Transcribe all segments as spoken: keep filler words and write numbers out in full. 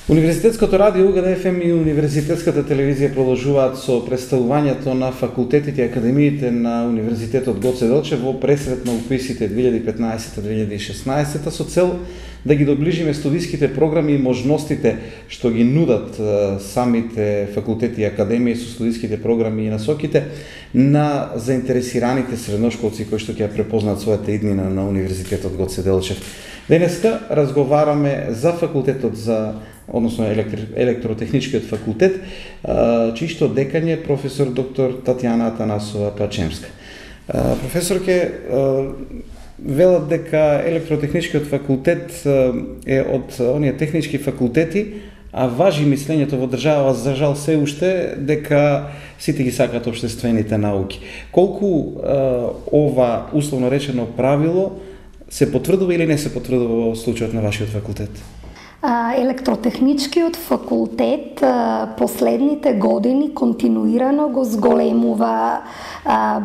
Универзитетското радио УГД еф ем и Универзитетската телевизија продолжуваат со представувањето на факултетите и академиите на Универзитетот Гоце Делчев во пресрет на уписите две илјади и петнаесета - две илјади и шеснаесета со цел да ги доближиме студиските програми и можностите што ги нудат самите факултети и академии со студиските програми и насоките на заинтересираните средношколци кои што ќе ја препознаат својата иднина на Универзитетот Гоце Делчев. Денеска разговараме за факултетот за односно електри, електротехничкиот факултет, чишто декан е професор доктор Татјана Атанасова Пачемска. Професорке, велат дека електротехничкиот факултет е од оние технички факултети, а важи мислењето во држава за жал се уште дека сите ги сакаат општествените науки. Колку ова условно речено правило се потврдува или не се потврдува во случајот на вашиот факултет? Електротехничкиот факултет последните години континуирано го зголемува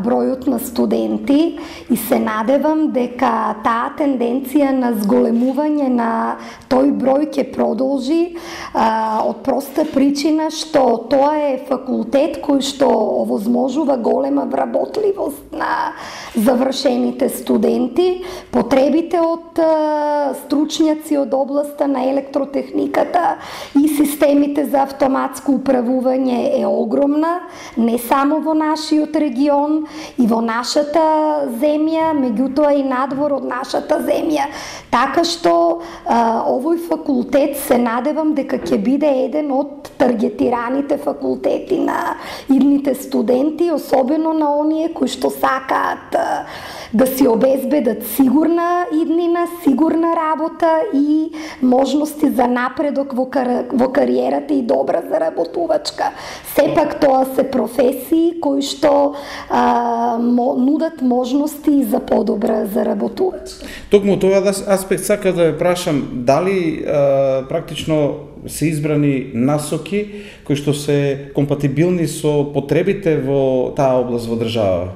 бројот на студенти и се надевам дека таа тенденција на зголемување на тој број ќе продолжи од проста причина што тоа е факултет кој што овозможува голема вработливост на завршените студенти. Потребите од стручњаци од областа на електротехниката и системите за автоматско управување е огромна, не само во нашиот регион и во нашата земја, меѓутоа и надвор од нашата земја. Така што а, овој факултет се надевам дека ќе биде еден од таргетираните факултети на идните студенти, особено на оние кои што сакаат а, да си обезбедат сигурна иднина, сигурна работа и можности за напредок во, кар... во кариерата и добра заработувачка. Сепак тоа се професии кои што а, мо, нудат можности за подобра заработувачка. Токму тоа аспект сака да ве прашам, дали а, практично се избрани насоки кои што се компатибилни со потребите во таа област во држава?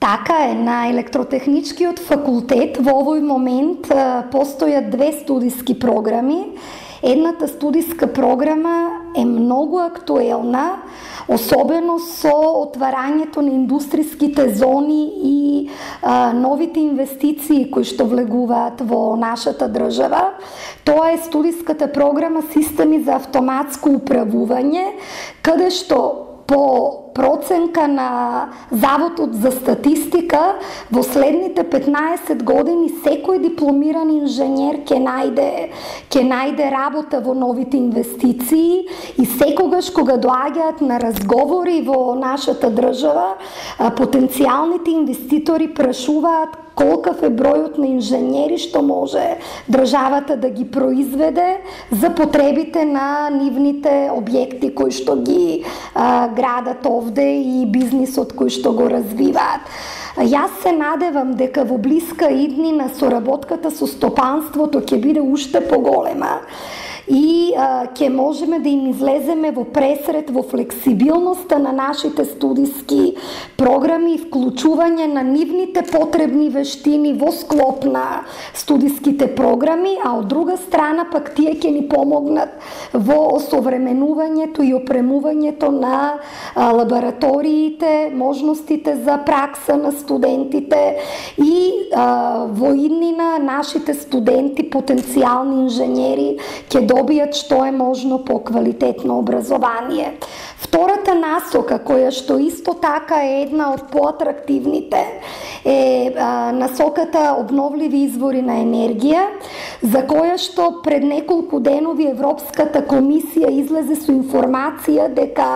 Така е, на електротехничкиот факултет во овој момент постојат две студиски програми. Едната студиска програма е многу актуелна, особено со отварањето на индустриските зони и а, новите инвестиции кои што влегуваат во нашата држава. Тоа е студиската програма Системи за автоматско управување, каде што по проценка на Заводот за статистика во следните петнаесет години секој дипломиран инженер ќе најде ќе најде работа во новите инвестиции и секогаш кога доаѓаат на разговори во нашата држава, потенцијалните инвеститори прашуваат колкав е бројот на инженери што може државата да ги произведе за потребите на нивните објекти кои што ги а, градат овде и бизнисот кој што го развиваат. Јас се надевам дека во блиска иднина соработката со стопанството ќе биде уште поголема и а, ќе можеме да им излеземе во пресрет во флексибилноста на нашите студиски програми и вклучување на нивните потребни вештини во склоп на студиските програми, а од друга страна пак тие ќе ни помогнат во осовременувањето и опремувањето на а, лабораториите, можностите за пракса на студентите и а, во иднина нашите студенти, потенцијални инженери ќе добијат што е можно по-квалитетно образование. Втората насока, која што исто така е една од поатрактивните, е а, насоката обновливи извори на енергија, за која што пред неколку денови Европската комисија излезе со информација дека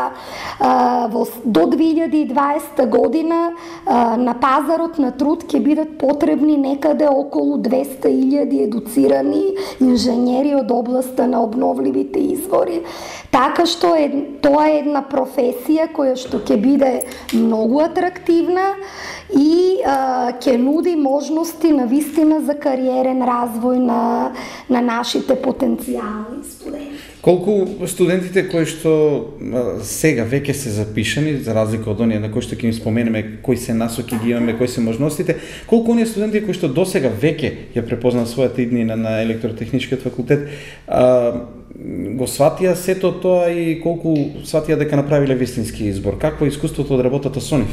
а, во, до две илјади и дваесета година а, на пазарот на труд ќе бидат потребни некаде околу двесте илјади едуцирани инженери од областа на обновливите извори. Така што е, тоа е една професија која што ќе биде многу атрактивна и а, ќе нуди можности на вистина за кариерен развој на, на нашите потенцијални студенти. Колку студентите кои што а, сега веќе се запишани, за разлика од оние на кои што ќе им споменеме кои се насоки ги имаме, кои се можностите, колку оние студенти кои што досега веќе ја препознаа својата иднина на електротехничкиот факултет, а, го сватија сето тоа и колку сватија дека направиле вистински избор? Какво е искуството од работата со нив?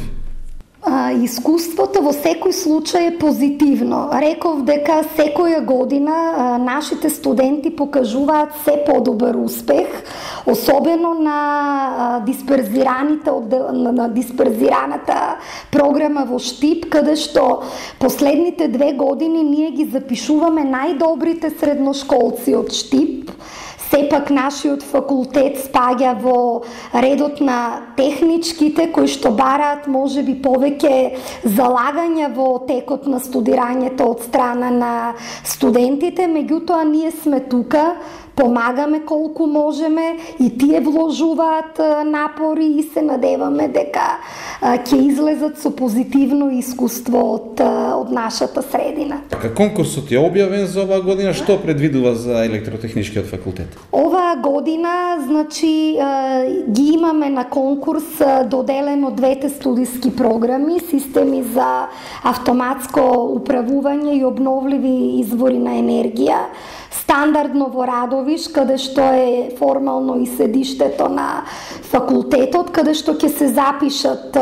А, искуството во секој случај е позитивно. Реков дека секоја година а, нашите студенти покажуваат се подобар успех, особено на а, дисперзираните на, на дисперзираната програма во Штип, каде што последните две години ние ги запишуваме најдобрите средношколци од Штип. Сепак нашиот факултет спаѓа во редот на техничките кои што бараат можеби повеќе залагања во текот на студирањето од страна на студентите, меѓутоа ние сме тука, помагаме колку можеме и тие вложуваат напори и се надеваме дека ќе излезат со позитивно искуство од, од нашата средина. Така, конкурсот е објавен за оваа година, што предвидува за електротехничкиот факултет? Оваа година, значи, ги имаме на конкурс доделено двете студиски програми, системи за автоматско управување и обновливи извори на енергија, стандардно во Радовиш, каде што е формално и седиштето на факултетот, каде што ќе се запишат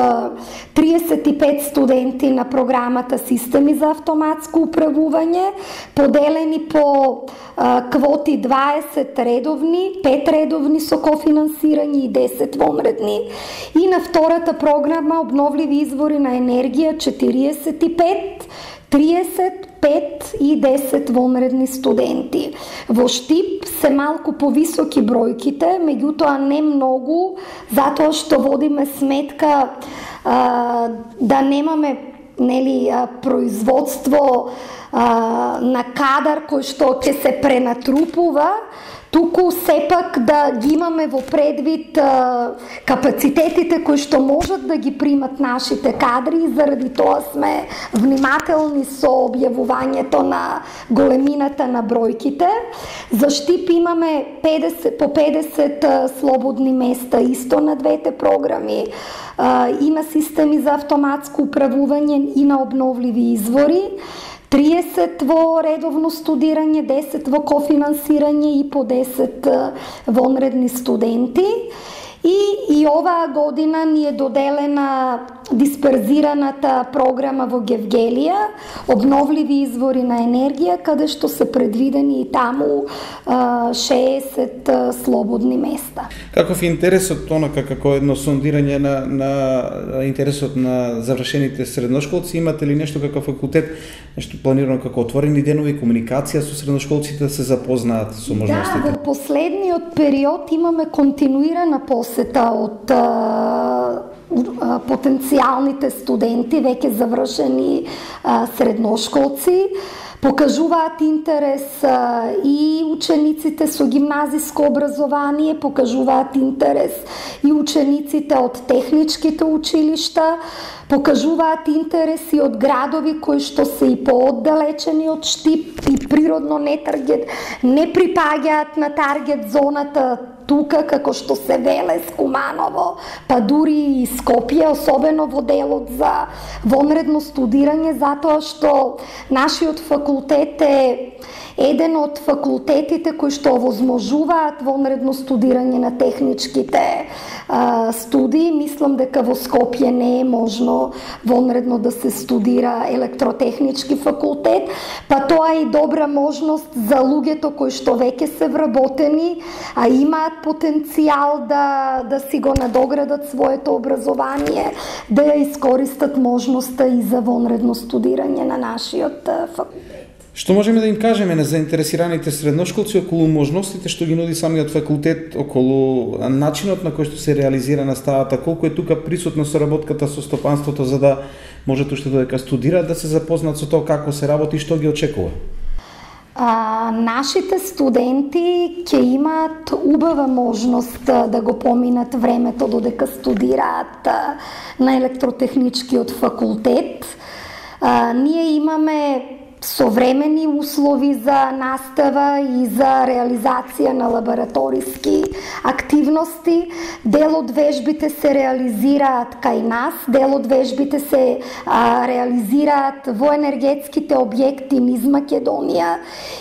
триесет и пет студенти на програмата Системи за автоматско управување, поделени по а, квоти дваесет редовни, пет редовни со кофинансирање и десет вонредни. И на втората програма Обновливи извори на енергија четириесет и пет, триесет, пет и десет вонредни студенти. Во Штип се малку повисоки бројките, меѓутоа не многу, затоа што водиме сметка а, да немаме нели производство а, на кадар кој што ќе се пренатрупува, туку сепак да ги имаме во предвид а, капацитетите кои што можат да ги примат нашите кадри и заради тоа сме внимателни со објавувањето на големината на бројките. За Штип имаме педесет, по педесет а, слободни места исто на двете програми, а, и на Системи за автоматско управување и на обновливи извори, триесет во редовно студирање, десет во кофинансирање и по десет вонредни студенти. И, и оваа година ни е доделена дисперзираната програма во Гевгелија, обновливи извори на енергија, каде што се предвидени и таму а, шеесет а, слободни места. Каков е интересот, онака како едно сондирање на, на интересот на завршените средношколци? Имате ли нешто како факултет, нешто планирано како отворени денови, комуникација со средношколците да се запознаат со можностите? Да, во последниот период имаме континуирана посета од а, потенцијалните студенти, веќе завршени а, средношколци. Покажуваат интерес а, и учениците со гимназиско образование, покажуваат интерес и учениците од техничките училишта, покажуваат интерес и од градови кои што се и пооддалечени од Штип и природно не таргет, не припаѓаат на таргет зоната тука, како што се Велес, Куманово, па дури и Скопје, особено во делот за вонредно студирање, затоа што нашиот факултет е еден од факултетите кои што овозможуваат вонредно студирање на техничките а, студии. Мислам дека во Скопје не е можно вонредно да се студира електротехнички факултет, па тоа е и добра можност за луѓето кои што веќе се вработени, а имаат потенцијал да, да си го надоградат своето образование, да ја искористат можноста и за вонредно студирање на нашиот факултет. Што можеме да им кажеме на заинтересираните средношколци околу можностите што ги нуди самиот факултет, околу начинот на кој што се реализира наставата, колку е тука присутна соработката со стопанството за да можат уште додека студираат да се запознат со тоа како се работи и што ги очекува? А, нашите студенти ќе имаат убава можност да го поминат времето додека студираат на електротехничкиот факултет. А, ние имаме современи услови за настава и за реализација на лабораториски активности. Дел од вежбите се реализираат кај нас, дел од вежбите се а, реализираат во енергетските објекти низ Македонија.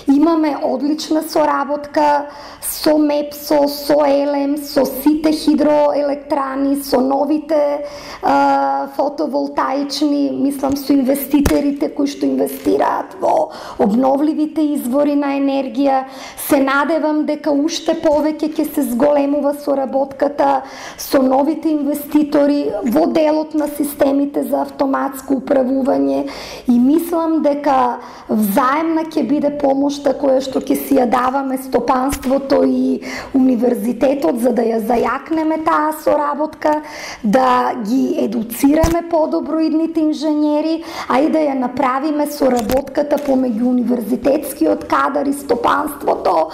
Имаме одлична соработка со МЕПСО, со ЕЛЕМ, со сите хидроелектрани, со новите а, фотоволтаични, мислам со инвеститорите кои што инвестираат во обновливите извори на енергија. Се надевам дека уште повеќе ќе се зголемува соработката со новите инвеститори во делот на системите за автоматско управување и мислам дека взаемна ќе биде помошта која што ќе си ја даваме стопанството и универзитетот за да ја зајакнеме таа соработка, да ги едуцираме подобро идните инженери, а и да ја направиме соработката помеѓу универзитетскиот кадар и стопанството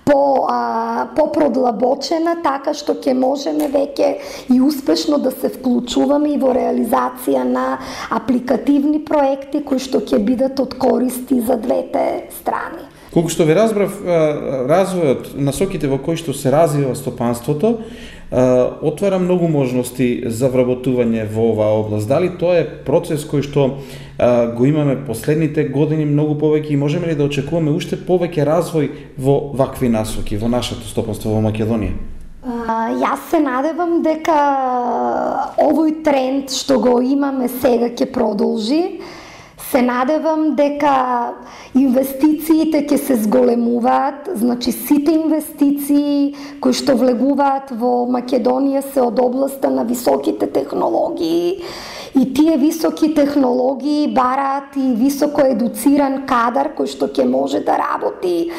по, а, по-продлабочена, така што ќе можеме веќе и успешно да се вклучуваме и во реализација на апликативни проекти кои што ќе бидат од користи за двете страни. Колку што ви разбрав, развојот, насоките во кои што се развива стопанството, отвара многу можности за вработување во оваа област. Дали тоа е процес кој што го имаме последните години многу повеќе и можеме ли да очекуваме уште повеќе развој во вакви насоки во нашето стопанство во Македонија? Uh, јас се надевам дека овој тренд што го имаме сега ќе продолжи. Се надевам дека инвестициите ќе се зголемуваат, значи сите инвестиции кои што влегуваат во Македонија се од областа на високите технологии и тие високи технологии бараат и високо едуциран кадар кој што ќе може да работи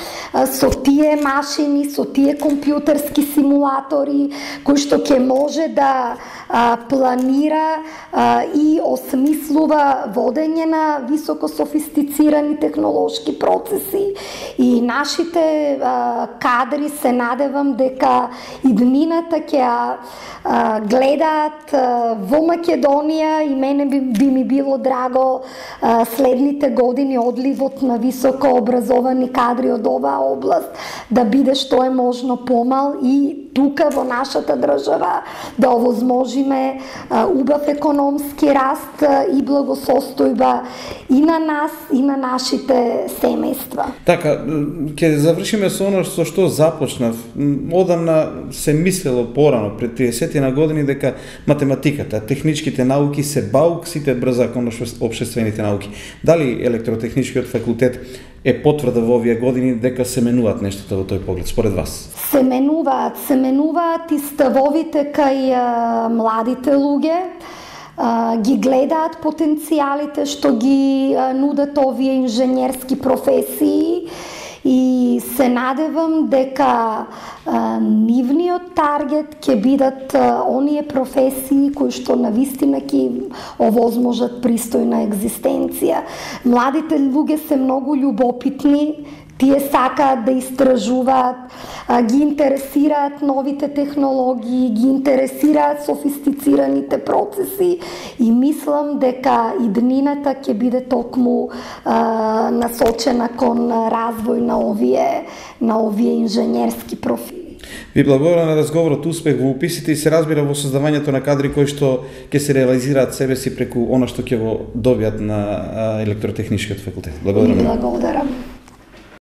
со тие машини, со тие компјутерски симулатори, кој што ќе може да а, планира а, и осмислува водење на високо софистицирани технолошки процеси и нашите а, кадри се надевам дека иднината ќе а, гледаат а, во Македонија и мене би, би ми било драго а, следните години одливот на високо образовани кадри од оваа област да биде што е можно помал и тука во нашата држава да овозможиме а, убав економски раст а, и благосостојба и на нас и на нашите семејства. Така, ќе завршиме со оно со што започнав. Одамна се мислело порано пред триесет на години дека математиката, техничките науки се баук, сите брза кон општествените науки. Дали електротехничкиот факултет е потврда во овие години дека се менуваат нештата во тој поглед, според вас? Се менуваат, се менуваат и ставовите кај а, младите луѓе, а, ги гледаат потенцијалите што ги а, нудат овие инженерски професии и се надевам дека а, нивниот таргет ќе бидат а, оние професии кои што навистина ќе овозможат пристојна екзистенција. Младите луѓе се многу љубопитни, тие сакаат да истражуваат, ги интересираат новите технологии, ги интересираат софистицираните процеси и мислам дека иднината ќе биде токму а, насочена кон развој на овие на овие инженерски профили. Ви благодарам на разговорот, успех во уписите и се разбира во создавањето на кадри кои што ќе се реализираат себе си преку она што ќе го добијат на електротехничкиот факултет. Благодарам. Благодарам.